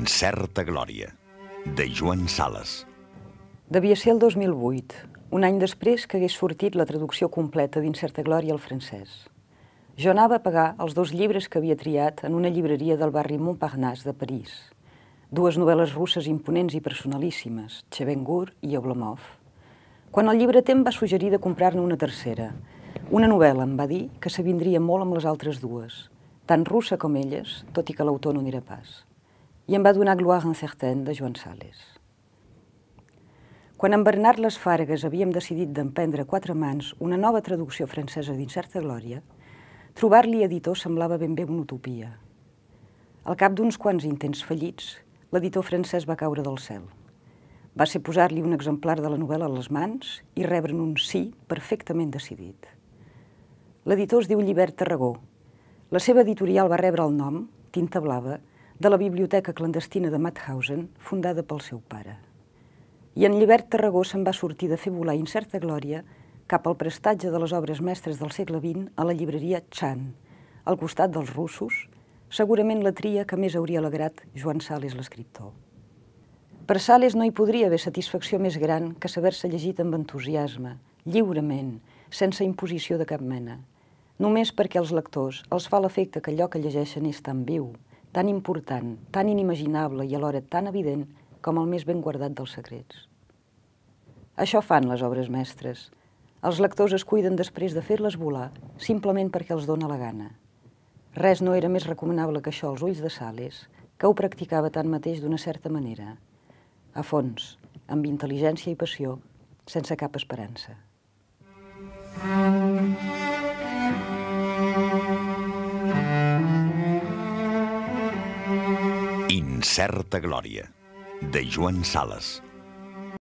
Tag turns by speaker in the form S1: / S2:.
S1: Incerta glòria, de Joan Sales.
S2: Devia ser el 2008, un any després que hagués sortit la traducció completa d'Incerta glòria al francès. Jo anava a pagar els 2 llibres que havia triat en una llibreria del barri Montparnasse de París. 2 novel·les russes imponents i personalíssimes, Chevengour i Oblomov. Quan el llibreter em va suggerir de comprar-ne una tercera, una novel·la em va dir que s'avindria molt amb les altres 2, tan russa com elles, tot i que l'autor no n'era pas. I em va donar Gloire incertaine de Joan Sales. Quan en Bernard Les Fargues havíem decidit d'emprendre 4 mans una nova traducció francesa d'Incerta glòria, trobar-li editor semblava ben bé una utopia. Al cap d'uns quants intents fallits, l'editor francès va caure del cel. Va ser posar-li un exemplar de la novel·la a les mans i rebre'n un sí perfectament decidit. L'editor es diu Llibert Tarragó. La seva editorial va rebre el nom, Tinta Blava, de la biblioteca clandestina de Mauthausen, fundada pel seu pare. I en Llibert Tarragó se'n va sortir de fer volar Incerta glòria cap al prestatge de les obres mestres del segle XX a la llibreria Chan, al costat dels russos, segurament la tria que més hauria alegrat Joan Sales l'escriptor. Per Sales no hi podria haver satisfacció més gran que saber-se llegit amb entusiasme, lliurement, sense imposició de cap mena, només perquè als lectors els fa l'efecte que allò que llegeixen és tan viu, tan important, tan inimaginable i alhora tan evident com el més ben guardat dels secrets. Això fan les obres mestres. Els lectors es cuiden després de fer-les volar simplement perquè els dóna la gana. Res no era més recomanable que això als ulls de Sales, que ho practicava tanmateix d'una certa manera, a fons, amb intel·ligència i passió, sense cap esperança.
S1: Incerta glòria, de Joan Sales.